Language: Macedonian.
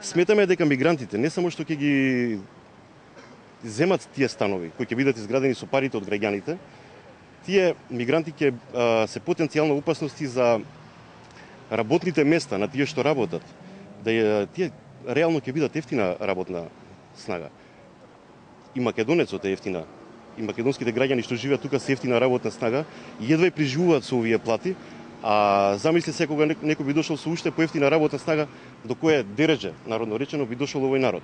Сметаме дека мигрантите не само што ќе ги земат тие станови кои ќе бидат изградени со парите од граѓаните, тие мигранти ќе се потенцијална опасности за работните места на тие што работат. Да тие реално ќе бидат ефтина работна снага. И македонецот е ефтина. И македонските граѓани што живеат тука се ефтина работна снага и едва преживуваат со овие плати. А замисли се кога некој би дошол со уште поевтина работна снага, до кое дередже, народно речено, би дошол овој народ.